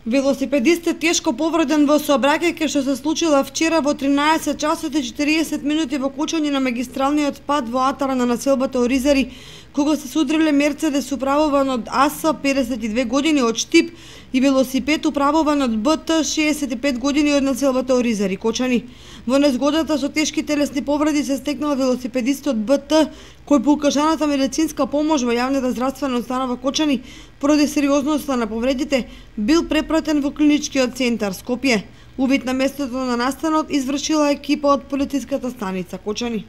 Велосипедистът тешко повреден во сообраќајка што се случила вчера во 13 часот и 40 минути во кочање на магистралниот пат во атара на населбата Оризари, кога се судриле Мерцедес управуван од АС 52 години од Штип и велосипед управуван од БТ 65 години од населбата Оризари, Кочани. Во незгодата со тешки телесни повреди се стекнал велосипедистот БТ, кој по укажаната медицинска помош во јавната здравствена установа Кочани, поради сериозноста на повредите, бил препратен во клиничкиот центар Скопје. Увид на местото на настанот извршила екипа од полициската станица Кочани.